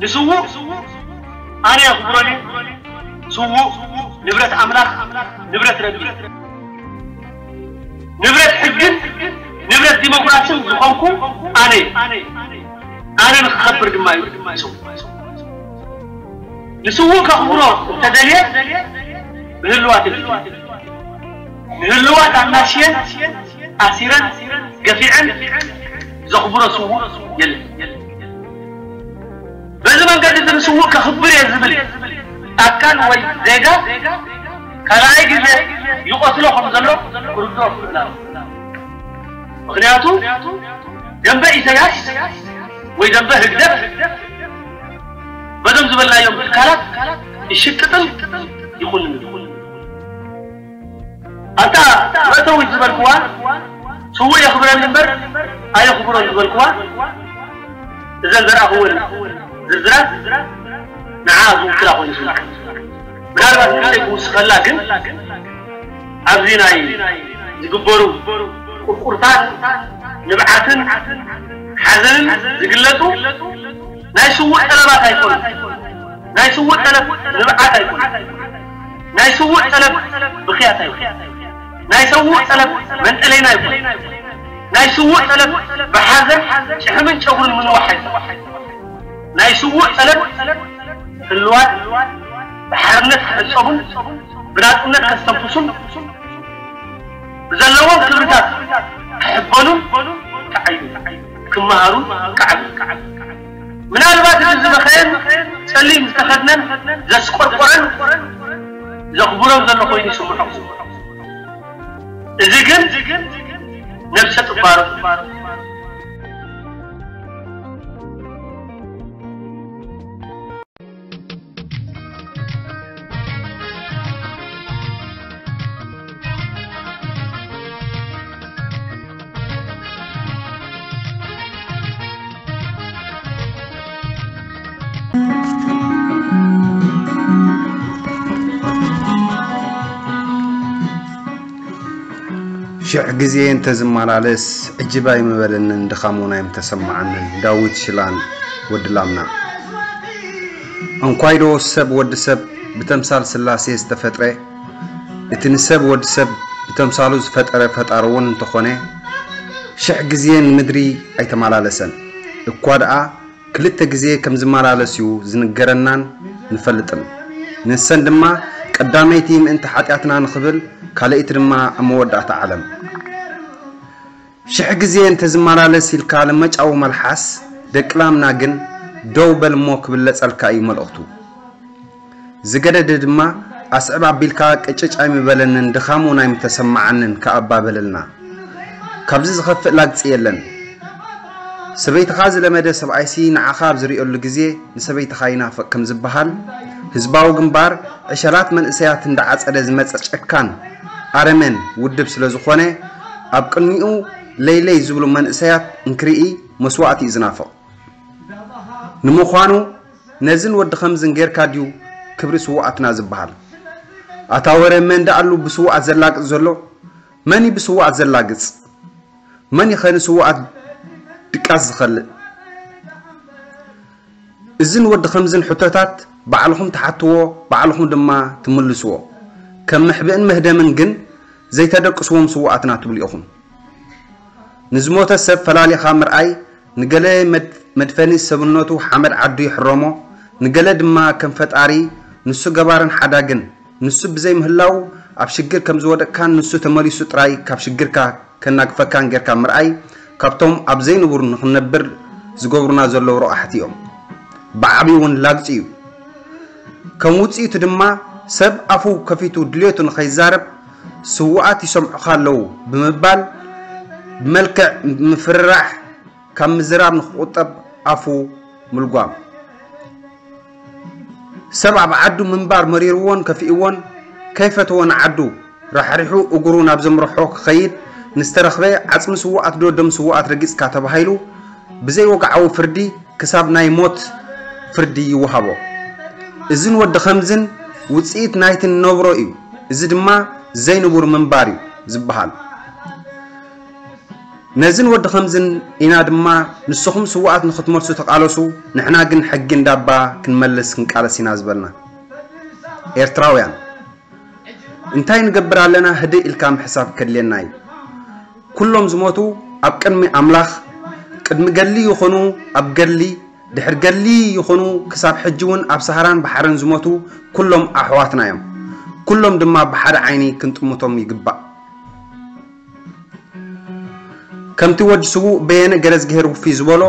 ንስዉእ ኣነ የኽብሮን እየ። ስዉእ ንብረት ኣምላኽ፣ ንብረት ረቢ፣ ንብረት ሕግን ንብረት ዲሞክራስን ዝኾንኩ ኣነ እየ። ኣነ ንኽኸብር ድማ እዩ። ንስዉእ ከኽብሮ እንተደልየ ብህልዋት የድሊ። ንህልዋት ኣናሽየን ኣሲረን ገፊዐን ዘኽብሮ ስዉእ የለን። በዚ መንገዲ እዚ ንስዉእ ከኽብር እየ ዝብል ኣካል ወይ ዜጋ ካልኣይ ግዜ ይቐትሎ ከም ዘሎ ክርድኦ ክኽእል ኣለዎ። ምኽንያቱ ደንበ ኢሳያስ ወይ ደንበ ህግደፍ በዞም ዝበልናዮም ትካላት ይሽቅጥን ይኹንን። ኣታ መእተዊት ዝበልክዋ ስዉእ የኽብረኒ እምበር ኣየኽብሮን ዝበልክዋ እዘን ዘርኣኽወን ዝርዝራት ንዓ ዝውክላ ኮይኑ ይስምዓኒ። ምናልባት ንእሽተይ ክውስኸላ ግን ኣብዚ ናይ ዝግበሩ ቁርቁርታን ንብዓትን ሓዘንን ዝግለጹ ናይ ስዉእ ጠለባት ኣይኮኑን። ናይ ስዉእ ጠለብ ንብዓት ኣይኮነን። ናይ ስዉእ ጠለብ ብኽያት ኣይኮነን። ናይ ስዉእ ጠለብ መንጠለይና ኣይኮነን። ናይ ስዉእ ጠለብ ብሓዘን ጭሕምን ጨጉርን ምንዋሕ ኣይኮነን። ናይ ስዉእ ጠለብ ህልዋት ብሓርነት ክሕጸቡን ብናጽነት ከስተንፍሱን ብዘለዎም ክብርታት ክሕበኑን ክዓዩ ክመሃሩን ክዓብዩ። ምናልባት እቲ ዝበኸየን ጸሊም ዝተኸድነን ዘስቆርቆረን ዘኽብሮም ዘሎ ኮይኑ ይስምዖ። እዚ ግን ነብሰ ጥባሩ ሽሕ ግዜ እንተዝመላለስ ዕጅብ ኣይምበለንን ድኻም እውን ኣይምተሰምዓንን። ዳዊት ሽላን ወዲ ላምና። እንኳይዶ ሰብ ወዲ ሰብ ብተምሳል ስላሴ ዝተፈጥረ፣ እቲ ንሰብ ወዲ ሰብ ብተምሳሉ ዝፈጠረ ፈጣሪ እውን እንተኾነ፣ ሽሕ ግዜ ንምድሪ ኣይተመላለሰን። እኳ ደኣ ክልተ ግዜ ከም ዝመላለስ እዩ ዝንገረናን ንፈልጥን። ንሰን ድማ ቀዳመይቲ ምእንቲ ሓጢኣትና ንኽብል፣ ካልኣይቲ ድማ ኣብ መወዳእታ ዓለም። ሽሕ ግዜ እንተዝመላለስ ኢልካ ለመጫዊ መልሓስ ደቂ ላምና ግን ደው በል እሞ ክብለጸልካ እዩ መልእኽቱ። ዝገደደ ድማ ኣስዕብ ኣቢልካ ቅጭጭ ኣይምበለንን ድኻም እውን ኣይምተሰማዓንን ከኣ ኣባበለልና። ካብዚ ዝኸፍእ ላግጺ የለን። ሰበይትኻ ዝለመደ ሰብኣይሲ ንዓኻ ኣብ ዝርእየሉ ግዜ ንሰበይትኻ ይናፍቕ ከም ዝበሃል፣ ህዝባዊ ግንባር ዕሸላት መንእሰያት እንዳዓጸደ ዝመጸ ጨካን ኣረሜን ውድብ ስለ ዝኾነ፣ ኣብ ቅድሚኡ ለይለይ ዝብሉ መንእሰያት እንክርኢ መስዋእቲ እዩ ዝናፍቕ። ንምዃኑ ነዝን ወዲ ኸምዝን ጌርካ ድዩ ክብሪ ስዉኣትና ዝበሃል? ኣታ ወረ መን ደኣሉ ብስዉኣት ዘላግጽ ዘሎ? መን እዩ ብስዉኣት ዘላግጽ? መን እዩ ኸ ንስዉኣት ድቃስ ዝኸልእ? እዝን ወዲ ኸምዝን ሕቶታት ባዕልኹም ትሓትዎ፣ ባዕልኹም ድማ ትምልስዎ። ከም መሕብእን መህደምን ግን ዘይተደቅስዎም ስዉኣትና ትብሉ ኢኹም። ንዝሞተ ሰብ ፈላሊኻ ምርኣይ ንገለ መድፈኒ ሰብነቱ ሓመድ ዓዱ ይሕረሞ፣ ንገለ ድማ ከም ፈጣሪ ንሱ ገባርን ሓዳግን፣ ንሱ ብዘይ ምህላዉ ኣብ ሽግር ከም ዝወደቅካን ንሱ ተመሊሱ ጥራይ ካብ ሽግርካ ከናግፈካን ጌርካ ምርኣይ ካብቶም ኣብ ዘይንቡር ንኽንነብር ዝገብሩና ዘለዉ ረቋሕቲ እዮም። ብዓብዩ እውን ላግጺ እዩ። ከም ውጽኢቱ ድማ ሰብ ኣፉ ከፊቱ ድልየቱ ንኸይዛረብ ስዉኣት ይሰምዑኻ ኣለዉ ብምባል ብመልክዕ ምፍርራሕ ካብ ምዝራብ ንኽቑጠብ ኣፉ ምልጓም። ሰብ ኣብ ዓዱ ምንባር መሪርዎን ከፊእዎን ከይፈተወ ንዓዱ ራሕሪሑ እግሩ ናብ ዘምርሖ ክኸይድ ንዝተረኽበ ዓጽሚ ስዉኣት ዶ ደም ስዉኣት ረጊጽካ ተባሂሉ ብዘይወግዓዊ ፍርዲ ክሳብ ናይ ሞት ፍርዲ ይወሃቦ። እዝን ወዲ ኸምዝን ውጽኢት ናይቲ ንነብሮ እዩ። እዚ ድማ ዘይንቡር ምንባር እዩ ዝበሃል። ነዝን ወዲ ከምዝን ኢና ድማ ንስኹም ስውኣት ንኽትመልሱ ተቓለሱ፣ ንሕና ግን ሕጊ እንዳባ ክንመልስ ክንቃለስ ኢና ዝበልና። ኤርትራውያን እንታይ ንገብር ኣለና? ህድእ ኢልካ ምሕሳብ ከድልየና እዩ። ኩሎም ዝሞቱ ኣብ ቅድሚ ኣምላኽ፣ ቅድሚ ገድሊ ይኹኑ ኣብ ገድሊ፣ ድሕሪ ገድሊ ይኹኑ ክሳብ ሕጂ እውን ኣብ ሰሃራን ባሕርን ዝሞቱ ኩሎም ኣሕዋትና እዮም። ኩሎም ድማ ብሓደ ዓይኒ ክንጥምቶም ይግባእ። ከምቲ ወዲ ስዉእ በየነ ገረዝግሄር ውፊ ዝበሎ፣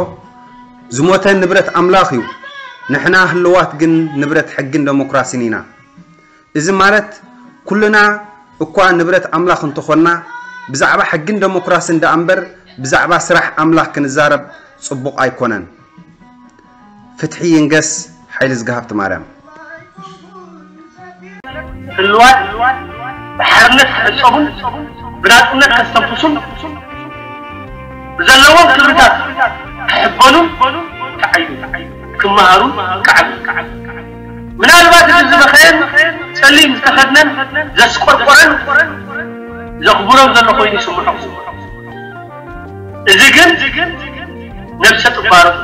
ዝሞተ ንብረት ኣምላኽ እዩ፣ ንሕና ህልዋት ግን ንብረት ሕግን ደሞክራሲን ኢና። እዚ ማለት ኩልና እኳ ንብረት ኣምላኽ እንተኾንና፣ ብዛዕባ ሕግን ደሞክራስን ደኣ እምበር ብዛዕባ ስራሕ ኣምላኽ ክንዛረብ ጽቡቕ ኣይኮነን። ፍትሒ ይንገስ። ሓይሊ ዝግሃብቲ ማርያም። ህልዋት ብሓርነት ክሕጸቡን ብናጽነት ከስተንፍሱን ብዘለዎም ክብርታት ክሕበኑን ክዓዩ ክመሃሩን ክዓብዩ። ምናልባት እቲ ዝበኸየን ጸሊም ዝተኸድነን ዘስቆርቆረን ዘኽብሮም ዘሎ ኮይኑ ይስምዖ። እዚ ግን ነብሰ ጥባሮም